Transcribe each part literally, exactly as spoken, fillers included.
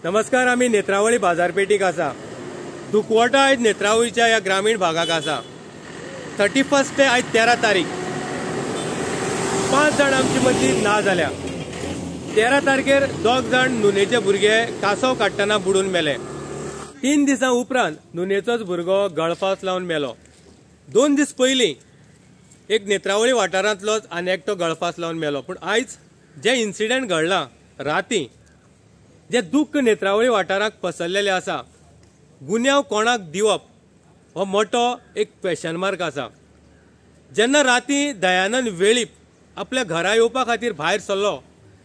नमस्कार, आमी नेत्रावळी बाजारपेठीक आसा. दुखवटो आयज नेत्रावळीच्या ह्या ग्रामीण भागाक आसा. थर्टी फर्स्ट ते आयज तेरा तारीख पांच जाण आमची मदली ना जाल्या. तेरा तारखेर दोग जाण नुनेचे भुरगे कासव काडटना बुडून मेले. तीन दिसां उपरांत नुनेचोच भुरगो गळफास लावन मेलो. दोन दीस पयलीं एक नेत्रावळी वाठारांतलोच आनी एकटो गळफास लावन मेलो. पूण आयज जे इन्सिडंट घडला राती, जे दुख्ख नेत्रावळी वाठाराक पसरलेले आसा, गुन्यांव कोणाक दिवप हो मोठो एक क्वेशन मार्क आसा. जेन्ना राती दयानंद वेळीप आपल्या घरा येवपा खातीर भायर सरलो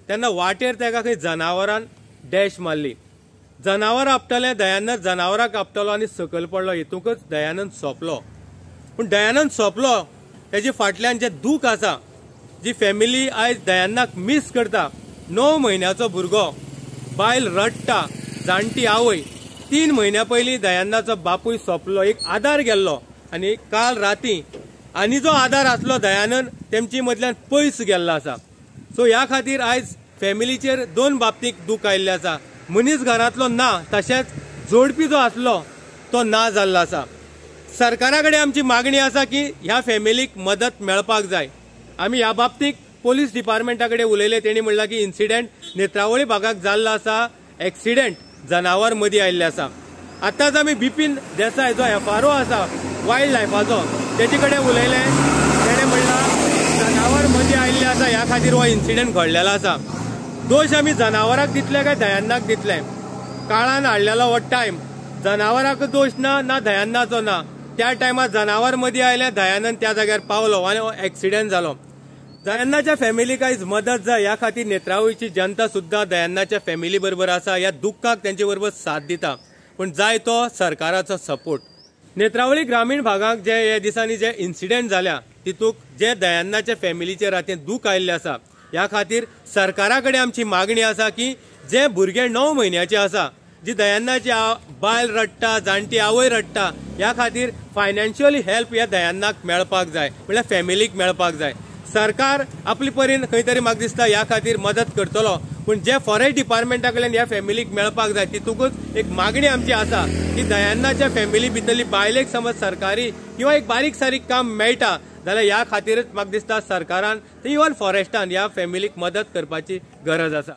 तेन्ना वाटेर ताका खंय जनावरान डॅश मारली. जनावर आपटलें, दयानंद जनावराक आपटलो आनी सकयल पडलो. हेतूंकच दयानंद सोंपलो. पूण दयानंद सोंपलो तेजे फाटल्यान जे दूख आसा, जी फॅमिली आयज दयानंदाक मीस करता. णव म्हयन्याचो भुरगो, बायल रडटा, जाणटी आवय. तीन म्हयन्या पयलीं दयानंदाचो बापूय सोंपलो, एक आदार गेल्लो आनी काल राती आनी जो आदार आसलो दयानंद तेमची मदल्यान पयस गेल्लो आसा. सो ह्या खातीर आयज फॅमिलीचेर दोन बाबतीक दूख आयिल्लें आसा. मनीस घरांतलो ना, तशेंच जोडपी जो आसलो तो ना जाल्लो आसा. सरकारा कडेन आमची मागणी आसा की ह्या फॅमिलीक मदत मेळपाक जाय. आमी ह्या बाबतीक पोलीस डिपार्टमेंटा कडेन उलयले. तेणी म्हणलां की इन्सिडंट नेत्रावळी भागाक जाल्लो आसा, एक्सिडंट जनावर मदीं आयिल्लें आसा. आतांच आमी बिपीन देसाय जो एफ आर ओ आसा वायल्ड लायफाचो तेजे कडेन उलयले. तेणें म्हणलां जनावर मदीं आयिल्लें आसा, ह्या खातीर हो इन्सिडंट घडलेलो आसा. दोश आमी जनावराक दितले काय दयानंदाक दितले? काळान हाडलेलो हो टायम, जनावराक दोश ना, ना दयानंदाचो ना. त्या टायमार जनावर मदीं आयलें, दयानंद त्या जाग्यार पावलो आनी हो एक्सिडंट जालो. दयानंदाच्या फॅमिलीक आयज मदत जाय, ह्या खातीर नेत्रावळीची जनता सुद्दां दयानंदाच्या फॅमिली बरोबर आसा. ह्या दुख्खाक तेंचे बरोबर साथ दिता, पूण जाय तो सरकाराचो सपोर्ट. नेत्रावळी ग्रामीण भागाक जे हे दिसांनी जे इन्सिडंट जाल्या तितूक जे दयानंदाच्या फॅमिलीचे रातीन दूख आयिल्लें आसा, ह्या खातीर सरकारा कडेन आमची मागणी आसा की जे भुरगे णव म्हयन्याचे आसा, जी दयानंदाची बायल रडटा, जाणटी आवय रडटा, ह्या खातीर फायनान्शियली हेल्प ह्या दयानंदाक मेळपाक जाय, म्हणल्यार फॅमिलीक मेळपाक जाय. सरकार आपली परीन खंय तरी म्हाका दिसता ह्या खातीर मदत करतलो, पूण जे फॉरेस्ट डिपार्टमेंटा कडल्यान ह्या फॅमिलीक मेळपाक जाय तितूकच एक मागणी आमची आसा की दयानंदाच्या फॅमिली भितरली बायलेक समज सरकारी किंवा एक बारीक सारीक काम मेळटा जाल्यार ह्या खातीरच म्हाका दिसता सरकारान इवन फॉरेस्टान ह्या फॅमिलीक मदत करपाची गरज आसा.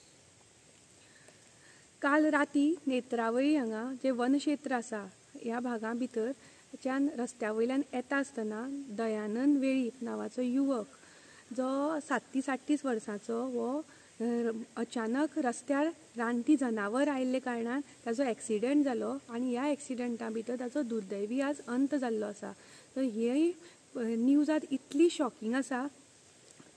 काल राती नेत्रावळी हांगा जे वनक्षेत्र आसा ह्या भागा भितर च्यान रस्त्या वयल्यान येता आसतना दयानंद वेळीप नांवाचो युवक जो सात्तीस आठतीस वर्सांचो हो अचानक रस्त्यार रानटी जनावर आयिल्ले कारणान ताजो एक्सिडंट जालो आनी ह्या एक्सिडंटा भितर ताजो दुर्दैवी आज अंत जाल्लो आसा. तर ही न्यूज आज इतली शॉकिंग आसा.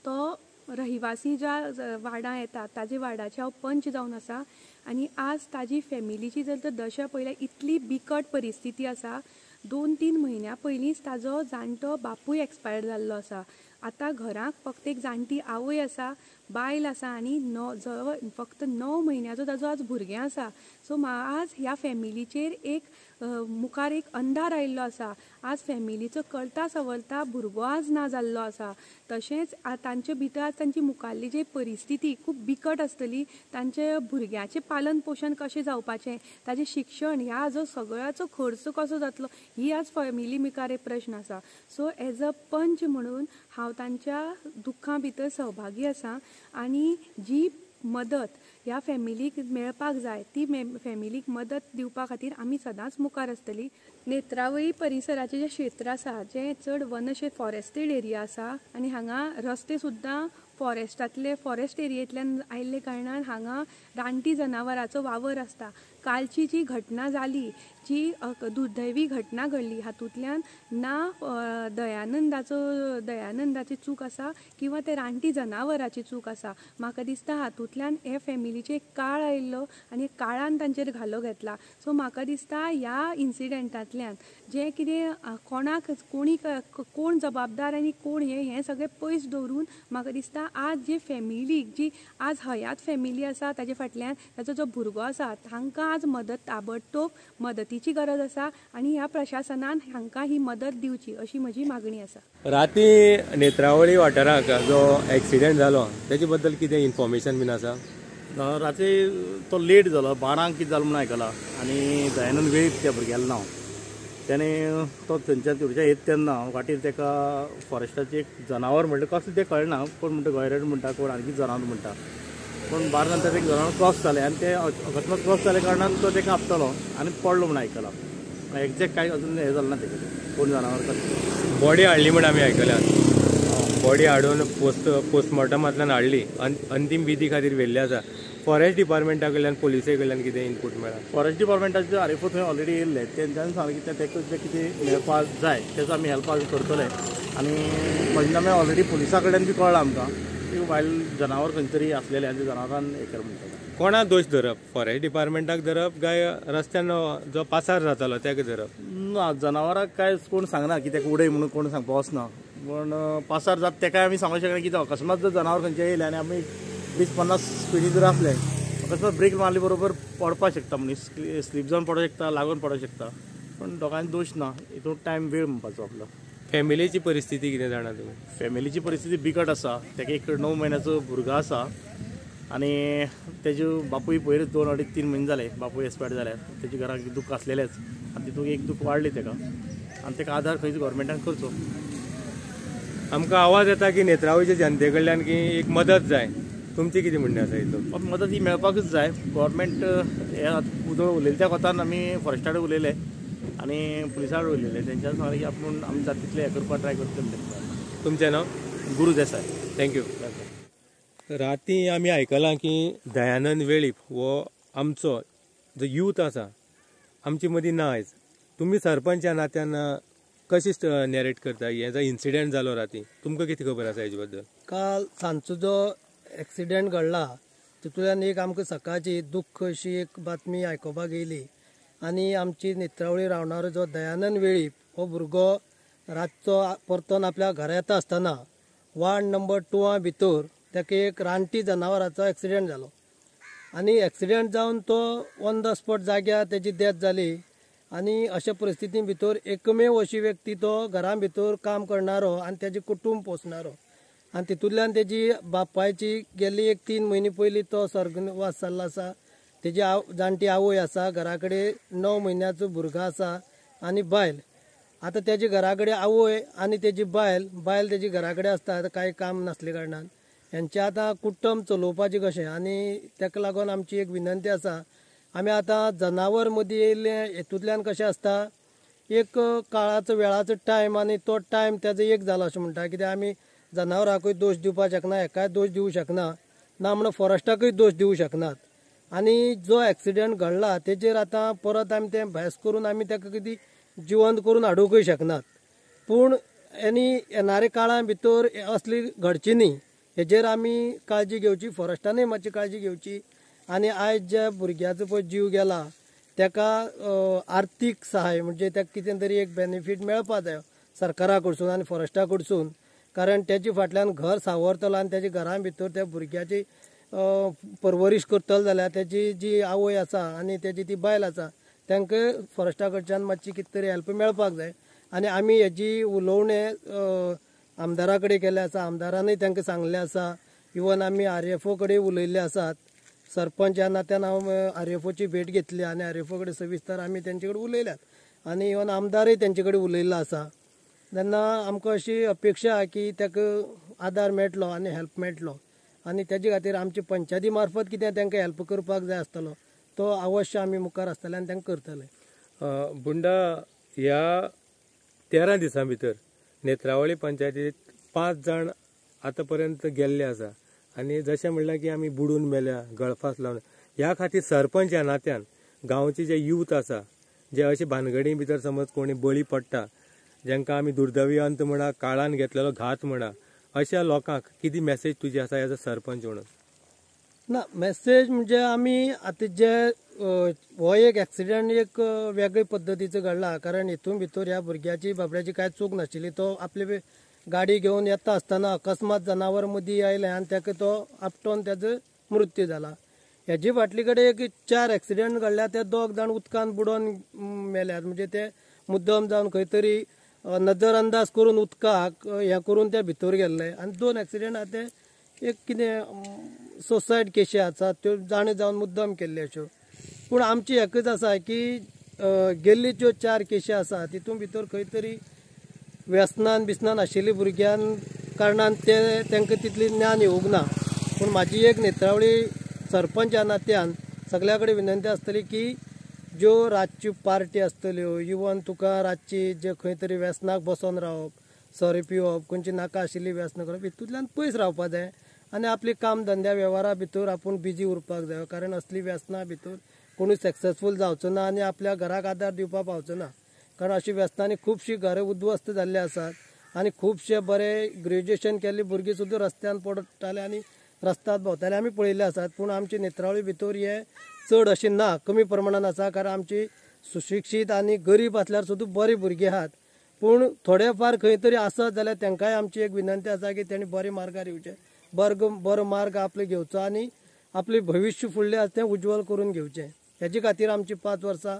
तो रहिवासी ज्या वार्डां येता ताजे वार्डाचे हांव पंच जावन आसा आनी आज ताजी फॅमिलीची जर तर दशा पळयल्यार इतली बिकट परिस्थिती आसा. दोन तीन म्हयन्या पयलींच ताजो जाणटो बापूय एक्सपायर जाल्लो आसा. आतां घराक फक्त एक जाणटी आवय आसा, बायल आसा आनी णव जवळ फक्त णव म्हयन्याचो ताजो आज भुरगें आसा. सो आज ह्या फॅमिलीचेर एक मुखार एक अंधार आयिल्लो आसा. आज फॅमिलीचो करता सवरता भुरगो आज ना जाल्लो आसा. तशेंच तांचे भितर आज तांची मुखारली जी परिस्थिती खूब बिकट आसतली. तांचे भुरग्याचें पालन पोशण कशें जावपाचें, ताजें शिक्षण, ह्या जो सगळ्याचो खर्च कसो जातलो, ही आज फॅमिली मुखार एक प्रश्न आसा. सो एज अ पंच म्हणून हांव तांच्या दुख्खा भितर सहभागी आसा आनी जी मदत ह्या फॅमिलीक मेळपाक जाय ती फॅमिलीक मदत दिवपा खातीर आमी सदांच मुखार आसतली. नेत्रावळी परिसराचें जें क्षेत्र आसा जें चड वनशे फॉरेस्टेड एरिया आसा आनी हांगा रस्ते सुद्दां फॉरेस्टांतले फॉरेस्ट एरियेंतल्यान आयिल्ले कारणान हांगा रानटी जनावरांचो वावर आसता. कालची जी घटना जाली, जी दुर्दैवी घटना घडली, हातूंतल्यान ना दयानंदाचो दयानंदाची चूक आसा किंवा ते रानटी जनावराची चूक आसा. म्हाका दिसता हातूंतल्यान हे फॅमिलीचेर काळ आयिल्लो आनी काळान तांचेर घालो घेतला. सो म्हाका दिसता ह्या इन्सिडंटांतल्यान जें कितें कोणाक कोणी कोण जबाबदार आनी कोण हें हें सगळें पयस दवरून म्हाका दिसता आज जी फॅमिलीक जी आज हयात फॅमिली आसा ताजे फाटल्यान ताजो जो भुरगो आसा तांकां आज मदत ताबडतोब मदतीची गरज आसा आनी ह्या प्रशासनान हांकां ही मदत दिवची अशी म्हजी मागणी आसा. राती नेत्रावळी वाठाराक जो एक्सिडंट जालो तेजे बद्दल कितें इन्फॉर्मेशन बीन आसा? राती तो लेट जालो, बारांक कितें जालो म्हणून आयकलां आनी दयानंद वेळीप त्या भुरग्यालें नांव. तेणें तो थंयच्यान थंयच्यान येता तेन्ना वाटेर ताका फॉरेस्टाचें एक जनावर म्हणटा, कसलें तें कळना, कोण म्हणटा गोयरेट म्हणटा, कोण आणखी जनावर म्हणटा, पूण बारा नंतर एक जनावर क्रॉस जालें आनी तें अकस्मात क्रॉस जाल्या कारणान तो ताका आपटलो आनी पडलो म्हूण आयकलां. एग्जॅक्ट कांय अजून हें जालें ना तेजें, कोण जनावर कसलें. बॉडी हाडली म्हण आमी आयकल्या, बॉडी हाडून पोस्ट पोस्टमॉर्टमांतल्यान हाडली, अंतीम विधी खातीर व्हेल्ली आसा. फॉरेस्ट डिपार्टमेंटा कडल्यान पोलिसे कडल्यान कितें इनपूट मेळ्ळा? फॉरेस्ट डिपार्टमेंटाचे आर एफ ओ थंय ऑलरेडी येयल्ले, तेंच्यांनी सांगलें की तेका जें कितें मेळपाक जाय तेजो आमी हेल्प करतले आनी पंचनामे ऑलरेडी पुलिसा कडल्यान बी कळ्ळां आमकां की वायल्ड जनावर खंय तरी आसलेलें आनी जनावरान हें कर म्हणटा. कोणा दोश धरप, फॉरेस्ट डिपार्टमेंटाक धरप काय रस्त्यान जो पासार जातालो तेका धरप? ना, जनावराक काय कोण सांगना की तेका उडय म्हणून कोण सांगपा वचना, पूण पासार जाता तेकाय आमी सांगूंक शकना कितें अकस्मात जर जनावर खंयचें येयलें आनी आमी वीस पन्नास स्पिडी जर आसले अकस्मात ब्रेक मारले बरोबर पडपाक शकता, मनीस स्लीप जावन पडोंक शकता, लागून पडोंक शकता, पूण दोगांय दोश ना, हितून टायम वेळ म्हणपाचो आपलो. फॅमिलीची परिस्थिती कितें जाणा तुमी? फॅमिलीची परिस्थिती बिकट आसा. तेका एक णव म्हयन्याचो भुरगो आसा आनी तेजे बापूय पयर दोन अडीच तीन म्हयने जाले बापूय एक्सपायर जाल्या, तेजे घराक दुख्ख आसलेलेंच आनी तितूंत एक दुख्ख वाडलें तेका आनी तेका आदार खंयच गव्हर्मेंटान करचो. आमकां आवाज येता की नेत्रावळीच्या जनते कडल्यान की एक मदत जाय, तुमचें कितें म्हणणें आसा हितून? मदत ही मेळपाकूच जाय. गव्हर्मेंट हे उदळ उलयले त्या कोतान आमी फॉरेस्टा कडेन उलयले आनी पुलिसा कडेन उलयले, तेंच्यांनी सांगलें की आपूण आमी जाता तितलें हें करपाक ट्राय करतले म्हणटा. तुमचें नांव? गुरू देसाय. Thank you. राती आमी आयकलां की दयानंद वेळीप हो आमचो जो यूथ आसा आमचे मदीं ना आयज. तुमी सरपंच ह्या नात्यान कशें नॅरेट करता हें जो इन्सिडंट जालो राती, तुमकां कितें खबर आसा हेजे बद्दल? काल सांजचो जो एक्सिडेंट घडला तितूंतल्यान एक आमकां सकाळची दुख्ख अशी एक बातमी आयकुपाक येयली आनी आमची नेत्रावळी रावणारो जो दयानंद वेळीप हो भुरगो रातचो परतोन आपल्या घरा येता आसतना वार्ड नंबर टुआ भितर ताका एक रानटी जनावराचो एक्सिडेंट जालो आनी एक्सिडेंट जावन तो ऑन the spot जाग्यार तेजी डेथ जाली आनी अशा परिस्थिती भितर एकमेव अशी व्यक्ती तो घरा भितर काम करणारो आनी तेजें कुटूंब पोसणारो आनी तितूंतल्यान तेजी बापायची गेल्ली एक तीन म्हयने पयलीं तो स्वर्गवास जाल्लो आसा. तेजी आव जाणटी आवय आसा, घरा कडेन णव म्हयन्याचो भुरगो आसा आनी बायल. आतां तेजे घरा कडेन आवय आनी तेजी बायल, बायल तेजी घरा कडेन आसता आतां कांय काम नासले कारणान हेंचें आतां कुटुंब चलोवपाचें कशें, आनी ताका लागून आमची एक विनंती आसा, आमी आतां जनावर मदीं येयल्ले हेतूंतल्यान कशें आसता एक काळाचो वेळाचो टायम आनी तो टायम तेजो एक जालो अशें म्हणटा, कित्याक आमी जनावरांकूय दोश दिवपाक शकना, हेकाय दोश दिवंक शकना, ना म्हणून फॉरेस्टाकूय दोश दिवंक शकनात. आनी जो एक्सिडेंट घडला तेजेर आतां परत आमी तें भास करून आमी ताका कितें जिवंत करून हाडुंकूय शकनात, पूण आनी येणाऱ्या काळा भितर असली घडची न्ही हेजेर आमी काळजी घेवची, फॉरेस्टानूय मातशी काळजी घेवची. आनी आयज ज्या भुरग्याचो पळय जीव गेला ताका आर्थीक सहाय म्हणजे ताका कितें तरी एक बेनिफीट मेळपा जाय सरकारा कडसून आनी फॉरेस्टा कडसून, कारण तेजे फाटल्यान घर सावरतलो आनी तेजे घरा भितर त्या भुरग्याची परवरीश करतलो जाल्यार तेजी जी आवय आसा आनी तेजी ती बायल आसा तांकां फॉरेस्टा कडच्यान मातशी कितें तरी हेल्प मेळपाक जाय. आनी आमी हेजी उलोवणें आमदारा कडेन केल्लें आसा, आमदारानूय तांकां सांगलें आसा, इवन आमी आर एफ ओ कडेन उलयल्ले आसात. सरपंच ह्या नात्यान हांव आर एफ ओची भेट घेतली आनी आर एफ ओ कडेन सविस्तर आमी तेंचे कडेन उलयल्यात आनी इवन आमदारय तेंचे कडेन उलयल्लो आसा. तेन्ना आमकां अशी अपेक्षा आहा की ताका आदार मेळटलो आनी हेल्प मेळटलो आनी तेजे खातीर आमचे पंचायती मार्फत कितें तांकां हेल्प करपाक जाय आसतलो तो अवश्य आमी मुखार आसतले आनी तांकां करतले. बुंडा, ह्या तेरा दिसां भितर नेत्रावळी पंचायतीत पांच जाण आतां पर्यंत गेल्ले आसा आनी जशें म्हणल्यार की आमी बुडून मेल्या, गळफास लावन, ह्या खातीर सरपंच ह्या नात्यान गांवचे जे यूथ आसा जे अशे भानगडी भितर समज कोणी बळी पडटा, जांकां आमी दुर्दैवी अंत म्हणा, काळान घेतलेलो घात म्हणा, अशा लोकांक कितें मॅसेज तुजी आसा एज अ सरपंच म्हणून? ना, मॅसेज म्हणजे आमी आतां जे हो एक एक्सिडंट एक वेगळे पद्दतीचो घडला, कारण हितून भितर ह्या भुरग्याची बाबड्याची कांय चूक नाशिल्ली. तो आपली गाडी घेवन येता आसतना अकस्मात जनावर मदीं आयलें आनी ताका तो आपटोन तेजो मृत्यू जाला. हेजे फाटले कडेन एक चार एक्सिडंट घडल्या, ते दोग जाण उदकान बुडोन मेल्यात, म्हणजे ते मुद्दम जावन खंय तरी नजर अंदाज करून उदकाक हें करून ते भितर गेल्ले. आनी दोन एक्सिडंट आहा ते एक कितें सुसायड केशी आसात त्यो जाणा जावन मुद्दम केल्ल्यो अश्यो. पूण आमची एकच आसा की गेल्ली ज्यो चार केशी आसा तितून भितर खंय तरी व्यसनान बिसनान आशिल्ली भुरग्यान कारणान ते तांकां तितली ज्ञान येवंक ना. पूण म्हाजी एक नेत्रावळी सरपंच ह्या नात्यान सगल्या कडेन विनंती आसतली की ज्यो रातच्यो पार्टी आसतल्यो इवन तुका रातची जे खंय तरी व्यसनाक बसोन रावप, सोरो पिवप, खंयची नाका आशिल्ली व्यसनां करप, हितूंतल्यान पयस रावपाक जाय आनी आपली काम धंद्या वेव्हारा भितर आपूण बिजी उरपाक जाय. कारण असली व्यसनां भितर कोणूय सक्सेसफूल जावचो ना आनी आपल्या घराक आदार दिवपाक पावचो ना. कारण अशी व्यसनांनी खुबशीं घरां उद्ध्वस्त जाल्ली आसात आनी खुबशे बरे ग्रेज्युएशन केल्ली भुरगीं सुद्दां रस्त्यान पडटाले आनी रस्त्यात भोंवताले आमी पळयल्ले आसात. पूण आमची नेत्रावळी भितर हे चड अशें ना, कमी प्रमाणान आसा. कारण आमची सुशिक्षीत आनी गरीब आसल्यार सुद्दां बरीं भुरगीं आहात, पूण थोडे फार खंय तरी आसत जाल्यार तांकांय आमची एक विनंती आसा की तेणी बरे मार्गार येवचे, बर्ग बरो मार्ग आपले घेवचो आनी आपले भविश्य फुडलें आसा तें उज्ज्वल करून घेवचें. हेजे खातीर आमची पांच वर्सां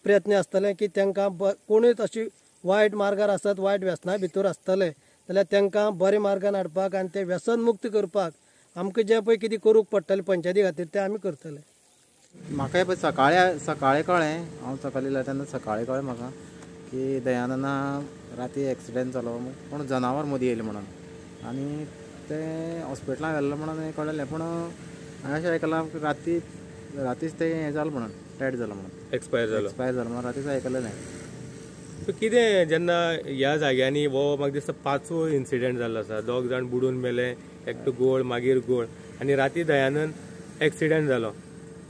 प्रयत्न आसतले की तांकां कोणूय अशी वायट मार्गार आसत, वायट व्यसना भितर आसतले जाल्यार तांकां बरे मार्गान हाडपाक आनी ते व्यसन मुक्त करपाक आमकां जें पळय कितें करूंक पडटलें पंचायती खातीर तें आमी करतले. म्हाका पळय सकाळी सकाळी कळ्ळें, हांव सकाळी येयलें तेन्ना सकाळी कळ्ळें म्हाका की दयानंदा राती एक्सिडेंट जालो, पूण जनावर मदीं येयलें म्हणून आनी तें हॉस्पिटलान व्हेल्लें म्हणून कळ्ळें. पूण हांवें अशें आयकलां राती रातीच तें हें जालें म्हणून, डेड जालो म्हणून, एक्सपायर जालो एक्सपायर जालो म्हणून रातीच आयकलें. सो कितें जेन्ना ह्या जाग्यांनी हो म्हाका दिसता पांचवो इन्सिडेंट जाल्लो आसा, दोग जाण बुडून मेले, एकटो गोळ मागीर गोळ आनी राती दयानंद एक्सिडेंट जालो.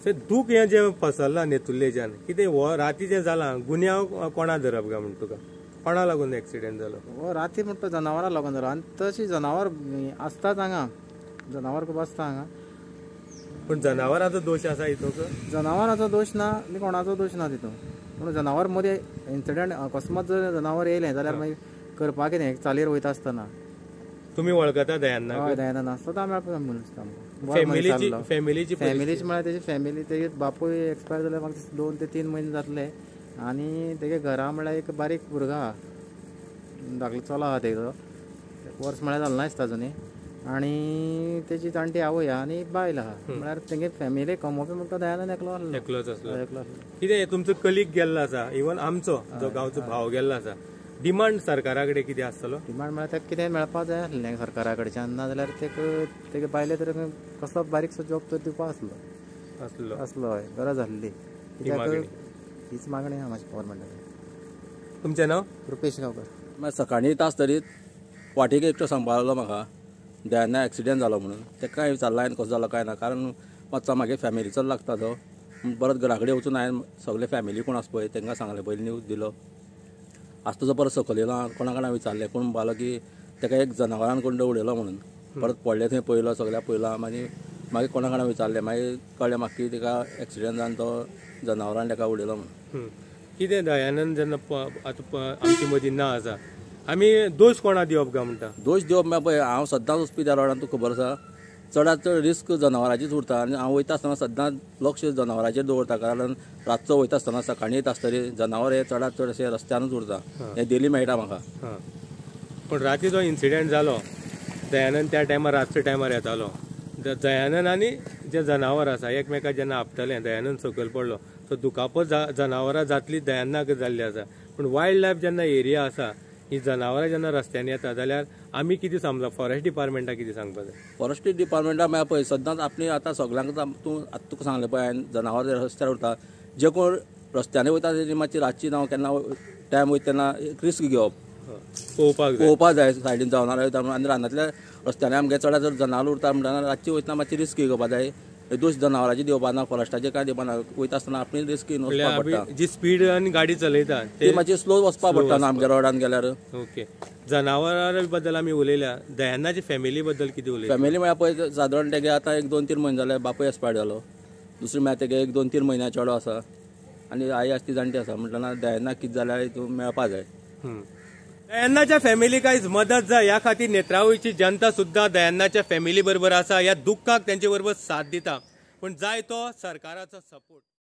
सो दूख हें जें पसरलां नेतुर्लेच्यान, कितें हो राती जें जालां गुन्यांव कोणा धरप काय म्हण तुका, कोणा लागून एक्सिडेंट जालो? हो राती म्हणटा जनावरां लागून जालो आनी तशी जनावर आसताच हांगा, जनावर खूब आसता हांगा. पूण जनावरांचो दोश आसा हितूंक? जनावरांचो दोश ना आनी कोणाचो दोश ना तितून, पूण जनावर मदीं इन्सिडंट अकस्मात जर जनावर येयलें जाल्यार मागीर करपाक कितें चालीर वयता आसतना. तुमी वळखता दयानंदाक? हय, दयानंद सदां मेळपा मनीस आमकां. फॅमिलीची फॅमिलीची फॅमिलीची म्हळ्यार तेजी फॅमिली, तेजे बापूय एक्सपायर जाल्यार म्हाका दोन ते तीन म्हयने जातले आनी तेगे घरा म्हळ्यार एक बारीक भुरगो आहा, धाकलो चलो आहा तेजो, वर्स म्हळ्यार जालें ना दिसता अजुनूय, आनी तेजी जाणटी आवय आहा आनी बायल आहा. म्हळ्यार तेगे फॅमिली कमोवपी म्हणटा दयानंद एकलो आसलो, एकलोच आसलो. एकलो आसलो. कितें तुमचो कलीग गेल्लो आसा, इवन आमचो जो गांवचो भाव गेल्लो आसा, डिमांड सरकारा कडेन कितें आसतलो? डिमांड म्हळ्यार ताका कितें मेळपाक जाय आसलें सरकारा कडच्यान, ना जाल्यार तेका तेगे बायले तर कसलो बारीकसो जॉब तर दिवपा आसलो आसलो आसलो हय, गरज आसली. कित्याक हीच मागणी आहा म्हाजी गव्हर्मेंटा. तुमचें नांव? रुपेश गांवकर. मागीर सकाळीं येता आसतरीच वाटेक एकटो सांगपाक म्हाका दयानंद एक्सिडेंट जालो म्हणून. ताका हांवें विचारलां हांवें कसो जालो काय ना, कारण मातसो मागीर फॅमिलीचो लागता तो. परत घरा कडेन वचून हांवें सगळे फॅमिली कोण आसा पळय तांकां सांगलें, पयलीं न्यूज दिलो. आज तुजो परत सकयल येयलो, कोणा कोणा विचारलें, कोण म्हणपालो की ताका एक जनावरान कोण उडयलो म्हणून. परत पडलें थंय पळयलो, सगळ्याक पळयलो, मागीर मागीर कोणा कोणा विचारलें, मागीर कळ्ळें म्हाका की ताका एक्सिडेंट जावन तो जनावरान ताका उडयलो म्हणून. कितें दयानंद जेन्ना आतां आमचे मदीं ना आसा, आमी दोश कोणा दिवप काय म्हणटा? दोश दिवप म्हळ्यार पळय, हांव सद्दांच वचपी त्या रोडान, तुका खबर आसा, चडांत चड रिस्क जनावरांचीच उरता आनी हांव वयता आसतना सद्दांच लक्ष जनावरांचेर दवरता, कारण रातचो वयता आसतना सकाळीं येता आसतरी जनावर हे चडांत चड अशें रस्त्यानूच उरता, हें डेली मेळटा म्हाका. पूण राती जो इन्सिडेंट जालो, दयानंद त्या टायमार रातच्या टायमार येतालो, दयानंद आनी जे जनावर आसा एकमेकाक जेन्ना आपटलें, दयानंद सकयल पडलो, सो दुखापत जनावरां जातली दयानंदाक जाल्ली आसा. पूण वायल्ड लायफ जेन्ना एरिया आसा, ही जनावरां जेन्ना रस्त्यांनी येता जाल्यार आमी कितें समजा फॉरेस्ट डिपार्टमेंटाक कितें सांगपाक जाय? फॉरेस्ट डिपार्टमेंटाक म्हळ्यार पळय सद्दांच आपली आतां सगल्यांक तूं आतां तुका सांगलें पळय हांवें, जनावर रस्त्यार उरता, जे कोण रस्त्यांनी वयता तेजी मातशी रातची जावं केन्ना टायम वयता तेन्ना एक रिस्क घेवप, पळोवपाक पळोवपाक जाय सायडीन जनावरां वयता म्हणून. आनी रानांतल्या रस्त्यांनी आमगे चडांत चड जनावरां उरता म्हणटना रातची वयतना मातशी रिस्क घेवपाक जाय, दोश जनावरांची दिवपा ना, फॉरेस्टाचे काय दिवपा ना, वयता आसतना आपली रिस्क घेवन वचपाक पडटा. जी स्पीड आनी गाडी चलयता ती मातशी स्लो वचपाक पडटा ना आमच्या रोडान गेल्यार. ओके, जनावरां बद्दल आमी उलयल्या, दयानंदाच्या फॅमिली बद्दल कितें उलयता? फॅमिली म्हळ्यार पळय सादारण तेगे आतां एक दोन तीन म्हयने जाले बापूय एक्सपायर्ड जालो, दुसरी म्हळ्यार तेगे एक दोन तीन म्हयन्या चेडो आसा आनी आई आसा ती जाणटी आसा, म्हणटना दयानंदाक कितें जाल्यार हितून मेळपा जाय. दयानंदाच्या फॅमिलीक आयज मदत जाय ह्या खातीर नेत्रावळीची जनता सुद्दां दयानंदाच्या फॅमिली बरोबर आसा, ह्या दुख्खाक तेंचे बरोबर साथ दिता, पूण जाय तो सरकाराचो सपोर्ट.